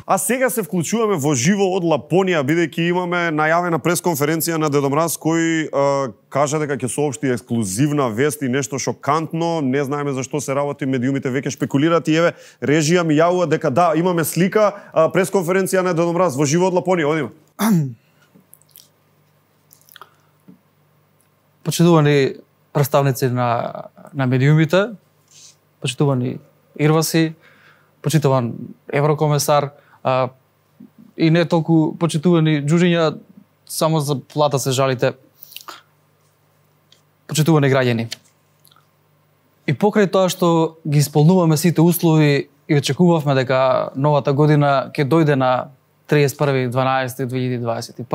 А сега се вклучуваме во живо од Лапонија, бидејќи имаме најавена пресконференција на Дедо Мраз, кој кажа дека ќе соопшти ексклузивна вест и нешто шокантно. Не знаеме за што се работи, медиумите веќе шпекулираат и еве режија ми јавува дека да, имаме слика, пресконференција на Дедо Мраз во живо од Лапонија. Одиме. Почитувани представници на медиумите, почитувани Ирваси, почитуван еврокомесар, и не толку почитувани џуџиња, само за плата се жалите. Почитувани граѓани. И покрај тоа што ги исполнуваме сите услови и очекувавме дека новата година ќе дојде на 31.12.2021,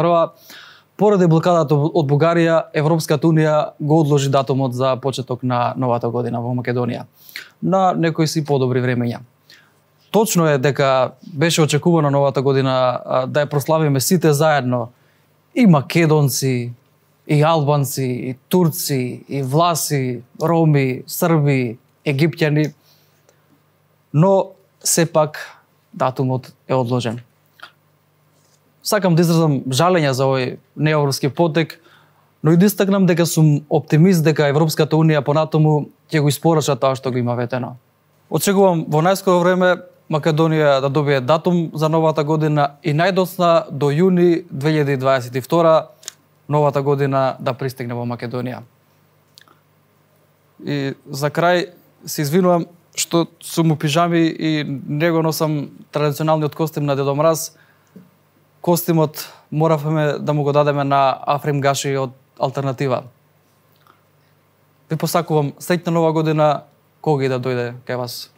поради блокадата од Бугарија, Европската унија го одложи датумот за почеток на новата година во Македонија на некои си подобри времења. Точно е дека беше очекувано новата година да ја прославиме сите заедно, и македонци, и албанци, и турци, и власи, роми, срби, египтјани, но сепак датумот е одложен. Сакам да изразам жалење за овој неевропски потек, но и да истакнам дека сум оптимист дека Европската унија понатаму ќе го испорача тоа што го има ветено. Очекувам во најскоро време Македонија да добие датум за новата година и најдоцна до јуни 2022 новата година да пристигне во Македонија. И за крај се извинувам што сум у пижами и не го носам традиционалниот костим на Дедо Мраз. Костимот моравме да му го дадеме на Африм Гаши од Алтернатива. Ви посакувам среќна нова година, кога и да дојде кај вас.